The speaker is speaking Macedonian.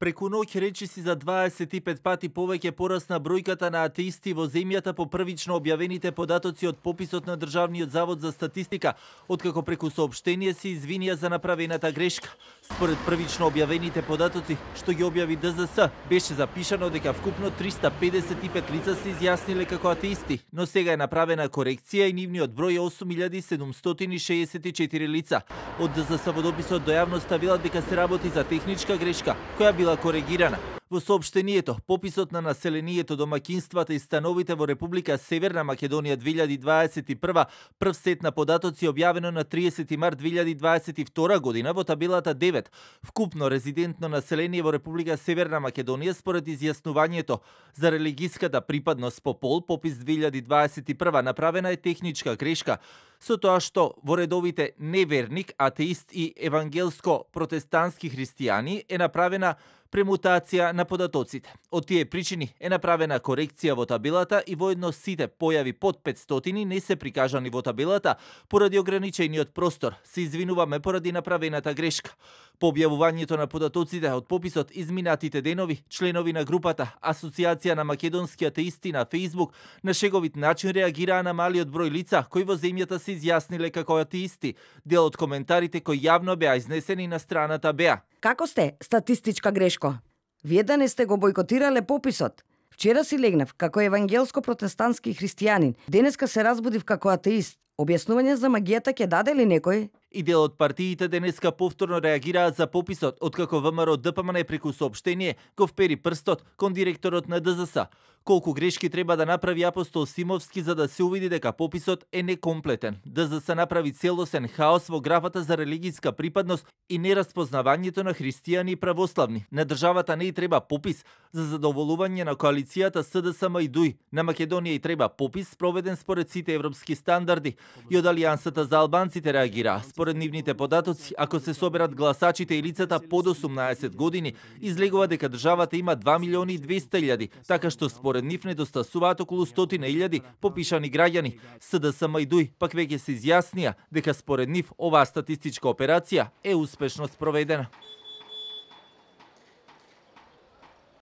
Преку ноќ речиси за 25 пати повеќе порасна бројката на атеисти во земјата по првично објавените податоци од пописот на Државниот завод за статистика, откако преку соопштение се извинија за направената грешка. Според првично објавените податоци, што ги објави ДЗС, беше запишано дека вкупно 355 лица се изјасниле како атеисти, но сега е направена корекција и нивниот број е 8764 лица. Од ДЗС во дописот до јавноста велат дека се работи за техничка грешка, која била коригирана. Во соопштението, пописот на населението, домаќинствата и становите во Република Северна Македонија 2021, прв сет на податоци објавено на 30 март 2022 година во табелата 9. Вкупно резидентно население во Република Северна Македонија според изјаснувањето за религиската припадност по пол, попис 2021 направена е техничка грешка, со тоа што во редовите неверник, атеист и евангелско-протестантски христијани е направена премутација на податоците. Од тие причини е направена корекција во табелата и воедно сите појави под 500 не се прикажани во табелата поради ограничениот простор. Се извинуваме поради направената грешка. По објавувањето на податоците од пописот изминатите денови, членови на групата Асоциација на македонски атеисти на Facebook на шеговит начин реагираа на малиот број лица кои во земјата се изјасниле како атеисти. Дел од коментарите кои јавно беа изнесени на страната беа: Како сте, статистичка грешко? Вие да не сте го бойкотирале пописот? Вчера си легнав како евангелско-протестантски христијанин, денеска се разбудив како атеист. Објаснување за магијата ќе даде ли некој? И дел од партиите денеска повторно реагираа за пописот, откако ВМРО ДПМН преку соопштение го впери прстот кон директорот на ДЗС. Колку грешки треба да направи Апостол Симовски за да се увиди дека пописот е некомплетен. ДЗС направи целосен хаос во графата за религиска припадност и нераспознавањето на христијани и православни. На државата не и треба попис за задоволување на коалицијата СДСМ и ДУИ. На Македонија и треба попис спроведен според сите европски стандарди. И од Алијансата за албанците реагираа. Според нивните податоци, ако се соберат гласачите и лицата под 18 години, излегува дека државата има 2.200.000, така што според нив недостасуваат околу 100.000 попишани граѓани. СДСМ и ДУИ пак веќе се изјаснија дека според нив оваа статистичка операција е успешно спроведена.